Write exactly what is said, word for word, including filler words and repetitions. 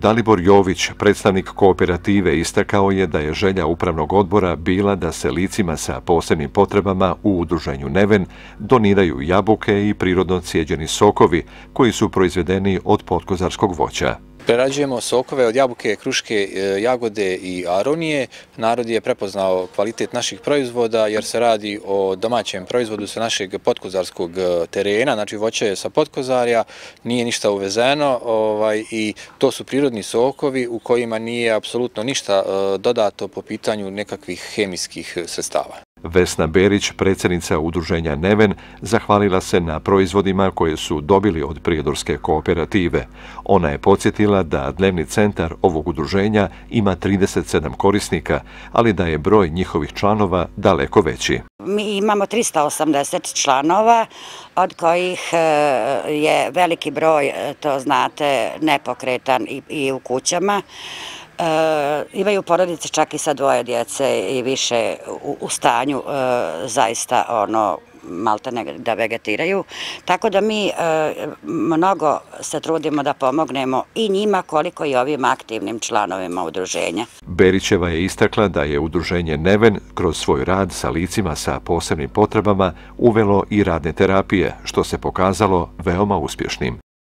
Dalibor Jović, predstavnik kooperative, istakao je da je želja upravnog odbora bila da se licima sa posebnim potrebama u udruženju Neven doniraju jabuke i prirodno cijeđeni sokovi koji su proizvedeni od potkozarskog voća. Prerađujemo sokove od jabuke, kruške, jagode i aronije. Narod je prepoznao kvalitet naših proizvoda jer se radi o domaćem proizvodu sa našeg potkozarskog terena, znači voće je sa potkozarja, nije ništa uvezeno ovaj, i to su prirodni sokovi u kojima nije apsolutno ništa dodato po pitanju nekakvih hemijskih sredstava. Vesna Berić, predsjednica udruženja Neven, zahvalila se na proizvodima koje su dobili od prijedorske kooperative. Ona je podsjetila da dnevni centar ovog udruženja ima trideset sedam korisnika, ali da je broj njihovih članova daleko veći. Mi imamo trista osamdeset članova, od kojih je veliki broj, to znate, nepokretan i u kućama. E, imaju porodice čak i sa dvoje djece i više u, u stanju e, zaista ono maltene da vegetiraju. Tako da mi e, mnogo se trudimo da pomognemo i njima koliko i ovim aktivnim članovima udruženja. Berićeva je istakla da je udruženje Neven kroz svoj rad sa licima sa posebnim potrebama uvelo i radne terapije, što se pokazalo veoma uspješnim.